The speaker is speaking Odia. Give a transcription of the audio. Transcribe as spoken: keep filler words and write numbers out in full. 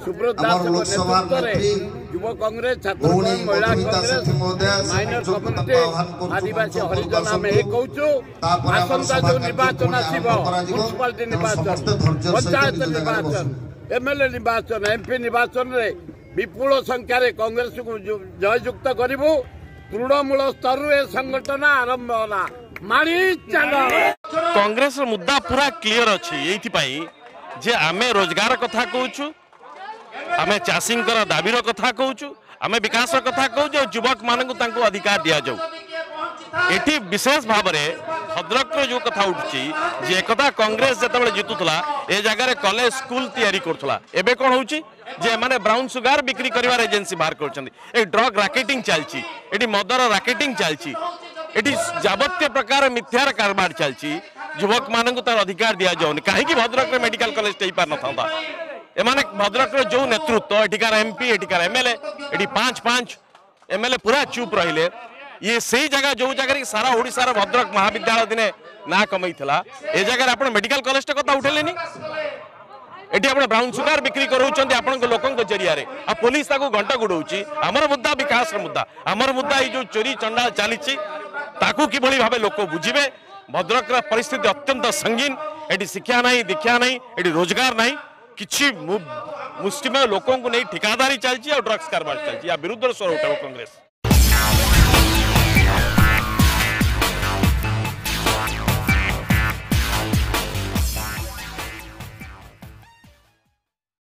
ସୁବ୍ରତ ଆମର ଦାସଙ୍କ ଲୋକସଭା ନେତୃତ୍ୱରେ ନେତ୍ରୀ ଯୁବ କଂଗ୍ରେସ, ଛାତ୍ର ଭଉଣୀ କଂଗ୍ରେସ, ମହିଳା ମଧୁମିତା କଂଗ୍ରେସ, ସେଠୀ ମହୋଦୟା, ସେ ମାଇନର ମଞ୍ଚକୁ ତାଙ୍କୁ କମ୍ୟୁନିଟି, ଆହ୍ୱାନ କରୁଛୁ, ଆଦିବାସୀ ମଞ୍ଚ ଉପରକୁ ହରିଜନ ଆମେ ଆସନ୍ତୁ। ଏ କହୁଛୁ, ତାପରେ ଆମର ଆସନ୍ତା ସଭା ଯୋଉ କାର୍ଯ୍ୟ ନିର୍ବାଚନ ପୁଣି ଆସିବ, ଆରମ୍ଭ କରାଯିବ। ମ୍ୟୁନିସିପାଲିଟି ତେଣୁ ନିର୍ବାଚନ, ସମସ୍ତେ ଧୈର୍ଯ୍ୟର ସହିତ ପଞ୍ଚାୟତ ନିଜ ଜାଗାରେ ନିର୍ବାଚନ, ବସନ୍ତୁ। ଏମଏଲଏ ନିର୍ବାଚନ, ଏମପି ନିର୍ବାଚନରେ ବିପୁଳ ସଂଖ୍ୟାରେ କଂଗ୍ରେସକୁ ଜୟଯୁକ୍ତ କରିବୁ। ତୃଣମୂଳ ସ୍ତରରୁ ଏ ସଂଗଠନ ଆରମ୍ଭ ହେଲା, ମାଡ଼ି ଚାଲ। କଂଗ୍ରେସର ମୁଦ୍ଦା ପୁରା କ୍ଲିୟର ଅଛି, ଏଇଥିପାଇଁ ଯେ ଆମେ ରୋଜଗାର କଥା କହୁଛୁ, ଆମେ ଚାଷୀଙ୍କର ଦାବିର କଥା କହୁଛୁ, ଆମେ ବିକାଶର କଥା କହୁଛୁ, ଆଉ ଯୁବକମାନଙ୍କୁ ତାଙ୍କୁ ଅଧିକାର ଦିଆଯାଉ। ଏଠି ବିଶେଷ ଭାବରେ ଭଦ୍ରକର ଯେଉଁ କଥା ଉଠୁଛି ଯେ ଏକଦା କଂଗ୍ରେସ ଯେତେବେଳେ ଜିତୁଥିଲା ଏ ଜାଗାରେ କଲେଜ ସ୍କୁଲ ତିଆରି କରୁଥିଲା, ଏବେ କ'ଣ ହେଉଛି ଯେ ଏମାନେ ବ୍ରାଉନ୍ ସୁଗାର ବିକ୍ରି କରିବାର ଏଜେନ୍ସି ବାହାର କରୁଛନ୍ତି। ଏ ଡ୍ରଗ୍ ରାକେଟିଂ ଚାଲିଛି ଏଠି, ମଦର ରାକେଟିଂ ଚାଲିଛି ଏଠି, ଯାବତୀୟ ପ୍ରକାର ମିଥ୍ୟାର କାରବାର ଚାଲିଛି। ଯୁବକମାନଙ୍କୁ ତାର ଅଧିକାର ଦିଆଯାଉନି। କାହିଁକି ଭଦ୍ରକରେ ମେଡିକାଲ କଲେଜଟା ହେଇପାରିନଥାନ୍ତା? ଏମାନେ ଭଦ୍ରକର ଯେଉଁ ନେତୃତ୍ୱ, ଏଠିକାର ଏମପି, ଏଠିକାର ଏମଏଲଏ, ଏଠି ପାଞ୍ଚ ପାଞ୍ଚ ଏମଏଲଏ ପୁରା ଚୁପ୍ ରହିଲେ। ଇଏ ସେଇ ଜାଗା ଯୋଉ ଜାଗାରେ ସାରା ଓଡ଼ିଶାର ଭଦ୍ରକ ମହାବିଦ୍ୟାଳୟ ଦିନେ ନାଁ କମେଇଥିଲା, ଏ ଜାଗାରେ ଆପଣ ମେଡିକାଲ କଲେଜଟା କଥା ଉଠେଇଲେନି। ଏଠି ଆପଣ ବ୍ରାଉନ୍ ସୁଗାର ବିକ୍ରି କରାଉଛନ୍ତି ଆପଣଙ୍କ ଲୋକଙ୍କ ଜରିଆରେ, ଆଉ ପୋଲିସ ତାକୁ ଘଣ୍ଟ ଗୁଡଉଛି। ଆମର ମୁଦ୍ଦା ବିକାଶର ମୁଦ୍ଦା, ଆମର ମୁଦ୍ଦା ଏଇ ଯୋଉ ଚୋରି ଚଣ୍ଡାଳ ଚାଲିଛି ତାକୁ କିଭଳି ଭାବେ ଲୋକ ବୁଝିବେ। ଭଦ୍ରକର ପରିସ୍ଥିତି ଅତ୍ୟନ୍ତ ସଙ୍ଗୀନ। ଏଠି ଶିକ୍ଷା ନାହିଁ, ଦୀକ୍ଷା ନାହିଁ, ଏଠି ରୋଜଗାର ନାହିଁ। କିଛି ମୁଷ୍ଟିମେୟ ଲୋକଙ୍କୁ ନେଇ ଠିକାଦାରୀ ଚାଲିଛି ଆଉ ଡ୍ରଗ୍ସ କାରବାର ଚାଲିଛି। ୟା ବିରୁଦ୍ଧରେ ସ୍ୱର ଉଠାଇବ କଂଗ୍ରେସ।